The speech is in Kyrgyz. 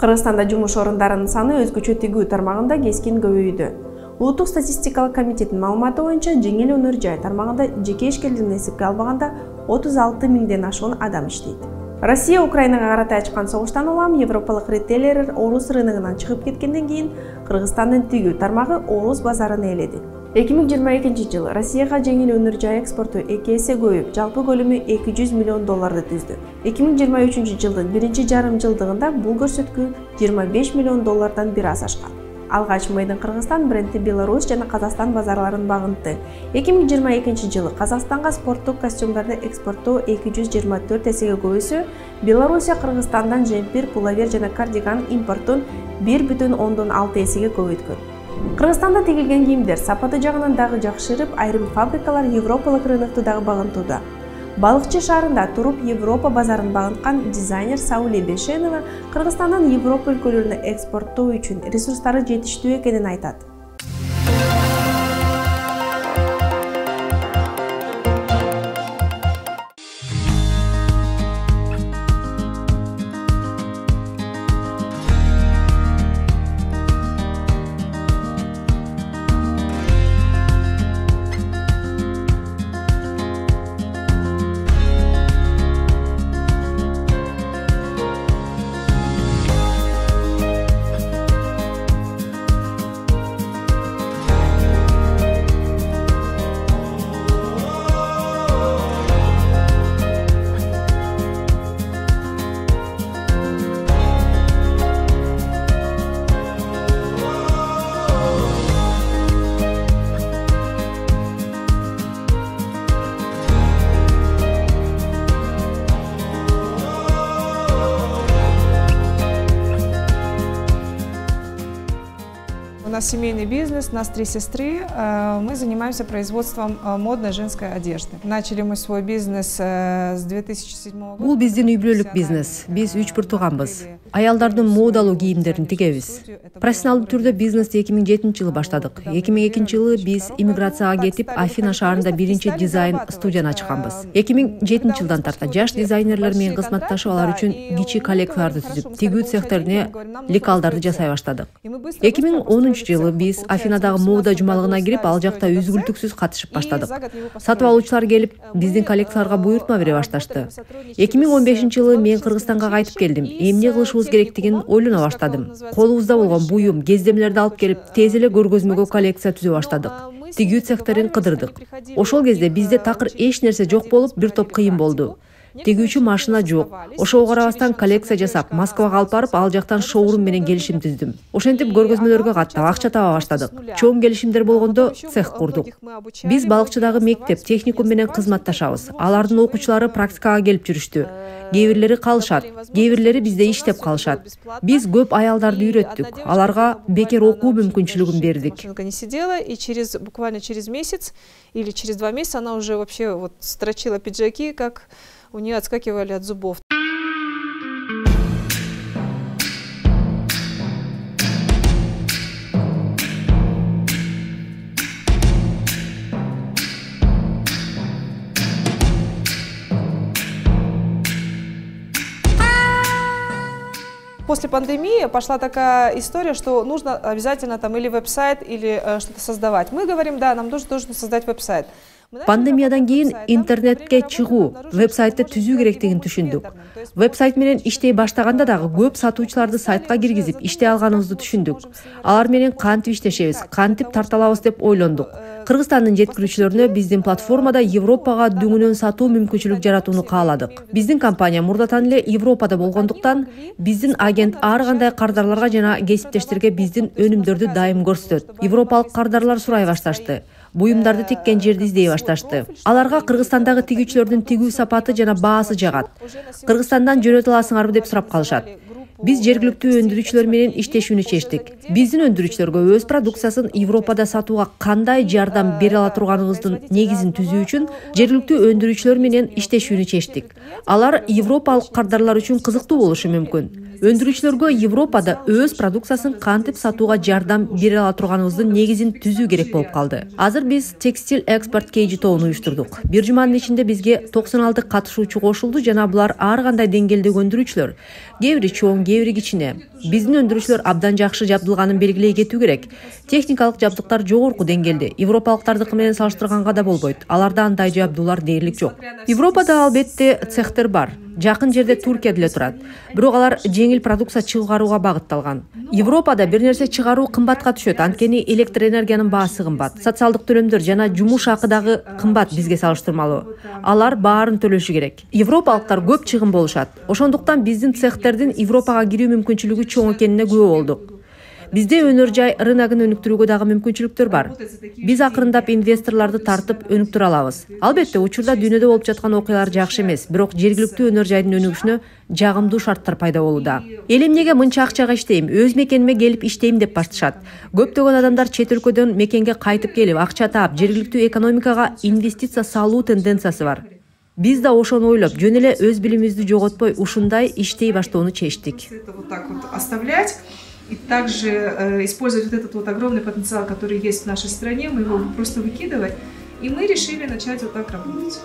Кыргызстанда жумуш орундарынын саны өзгөчө тигүү тармагында кескин көбөйдү. Улуттук статистикалык комитеттин маалыматы боюнча, жеңил өнөр жай тармагында жеке ишкерлерин эсепке албаганда 36 миңден ашуун адам иштейт. Россия Украинага карата ачкан согуштан улам европалык ритейлерлер орус рыногунан чыгып кеткенден кийин Кыргызстандын тигүү тармагы орус базарын ээледи. 2022 Россияга жеңил өнөр жай экспорту 2 эсе көбөйүп, жалпы көлөмү $200 миллион түздү. 2023 жылдын биринчи жарым жылдыгында бул көрсөткү $25 миллион бир аз ашкан. Алгач Made in Кыргызстан бренди Беларусь жана Казакстан базарларын багынты. 2022 жылы Казакстанга спорттук костюмдарды экспорттоо 224 эсеге көбөйсө, Белоруссия Кыргызстандан жемпир, пуловер жана кардиган импортун 1,6 эсеге көбөйткөн. Кыргызстанда тигилген кийимдер сапаты жагынан дагы жакшырып, айрым фабрикалар европалык рынокту дагы багынтууда. Балыкчы шаарында туруп Европа базарын багынткан дизайнер Сауле Бешенова Кыргызстандан Европа өлкөлөрүнө экспорттоо үчүн ресурстары жетиштүү экенин айтат. У нас семейный бизнес, у нас 3 сестры. Мы занимаемся производством модной женской одежды. Начали мы свой бизнес с 2007 года. Бул биздин үй бүлөлүк бизнес. Биз 3 бир тууганбыз. Аялдардын модалуу кийимдерин тигебиз. Профессионалдуу түрдө бизнести 2007 жылы баштадык. 2002 жылы биз иммиграцияга кетип, Афина шаарында биринчи дизайн студияны ачканбыз. 2007 жылдан тарта жаш дизайнерлер менен кызматташып, алар үчүн кичи коллекцияларды түзүп, тигүү цехтерине лекалдарды жасай баштадык. 2010 жылы биз Афинадагы мода жумалыгына кирип, ал жакта үзгүлтүксүз катышып баштадык. Сатып алуучулар келип, биздин коллекцияларга буйртма бере башташты. 2015 жылы мен Кыргызстанга кайтып келдим. Эмне кылышыбыз керектигин ойлоно баштадым. Колубузда болгон буюм, кездемелерди алып келип, тез эле көргөзмөгө коллекция түзө баштадык. Тигүү цехтерин кыдырдык. Ошол кезде бизде такыр эч нерсе жок болуп, бир топ кыйын болду. Тигүүчү машина жок. Ошого карабастан коллекция жасап, Москвага алып барып, ал жактан шоурум менен келишим түздүм. Ошентип көргөзмөлөргө каттап, акча таба баштадык. Чоң келишимдер болгондо цех курдук. Биз балыкчыдагы мектеп, техникум менен кызматташабыз. Алардын окуучулары практикага келип жүрүштү. Кээ бирлери калышат, кээ бирлери бизде иштеп калышат. Биз көп аялдарды үйрөттүк. Аларга бекер окуу мүмкүнчүлүгүн бердик. Не сидела, и буквально через месяц или через 2 месяца она уже вообще вот строчила пиджаки, как у нее отскакивали от зубов. После пандемии пошла такая история, что нужно обязательно там или веб-сайт, или что-то создавать. Мы говорим, да, нам нужно создать веб-сайт. Пандемиядан кийин интернетке чыгуу, веб-сайтты түзүү керектигин түшүндүк. Веб-сайт менен иштей баштаганда дагы көп сатуучуларды сайтка киргизип иштей алганыбызды түшүндүк. Алар менен кантип иштешебиз, кантип тарта алабыз деп ойлондук. Кыргызстандын жеткирүүчүлөрүнө биздин платформада Европага дүңүнөн сатуу мүмкүнчүлүк жаратууну кааладык. Биздин компания мурдатан эле Европада болгондуктан, биздин агент ар кандай кардарларга жана кесиптештерге биздин өнүмдөрдү дайым көрсөтөт. Европалык кардарлар сурай башташты. Буюмдарды тиккен жерди издей башташты. Аларга Кыргызстандагы тигүүчүлөрдүн тигүү сапаты жана баасы жагат. Кыргызстандан жөнөтө аласыңарбы деп сурап калышат. Биз жергиликтүү өндүрүүчүлөр менен иштешүүнү чечтик. Биздин өндүрүүчүлөргө өз продукциясын Европада сатууга кандай жардам бере ала турганыбыздын негизин түзүү үчүн жергиликтүү өндүрүүчүлөр менен иштешүүнү чечтик. Алар европалык кардарлар үчүн кызыктуу болушу мүмкүн. Өндүрүүчүлөргө Европада өз продукциясын кантип сатууга жардам бере ала турганыбыздын негизин түзүү керек болуп калды. Азыр биз текстиль экспорт кейжи тобун уюштурдук. Бир жуманын ичинде бизге 96 катышуучу кошулду жана булар ар кандай деңгээлдеги өндүрүүчүлөр. Кээ бири чоң, кээ бири кичине. Биздин өндүрүүчүлөр абдан жакшы жабдылганын белгилей кетүү керек. Техникалык жабдыктар жогорку деңгээлде. Европалыктардыкы менен салыштырганга да болбойт. Аларда андай жабдуулар дээрлик жок. Европада албетте цехтер бар. Жакын жерде Туркия деле турат. Бирок алар жеңил продукция чыгарууга багытталган. Европада бир нерсе чыгаруу кымбатка түшөт, анткени электр энергиянын баасы кымбат. Социалдык төлөмдөр жана жумуш акы дагы кымбат бизге салыштырмалуу. Алар баарын төлөшү керек. Европалыктар көп чыгым болушат. Ошондуктан биздин цехтердин Европага кирүү мүмкүнчүлүгү чоң экенине күбө болдук. Бизде өнөр жай рыногун өнүктүрүүгө дагы мүмкүнчүлүктөр бар. Биз акырындап инвесторлорду тартып өнүктүрө алабыз. Албетте учурда дүйнөдө болуп жаткан окуялар жакшы эмес, бирок жергиликтүү өнөр жайдын өнүгүшүнө жагымдуу шарттар пайда болууда. Эл эмнеге мынча акчага иштейм, өз мекениме келип иштейм деп башташат. Көптөгөн адамдар чет өлкөдөн мекенге кайтып келип, акча таап, жергиликтүү экономикага инвестиция салуу тенденциясы бар. Биз да ошону ойлоп, жөн эле өз билимибизди жоготпой ушундай иштей баштоону чечтик. И также использовать вот этот вот огромный потенциал, который есть в нашей стране, мы его просто выкидывать. И мы решили начать вот так работать.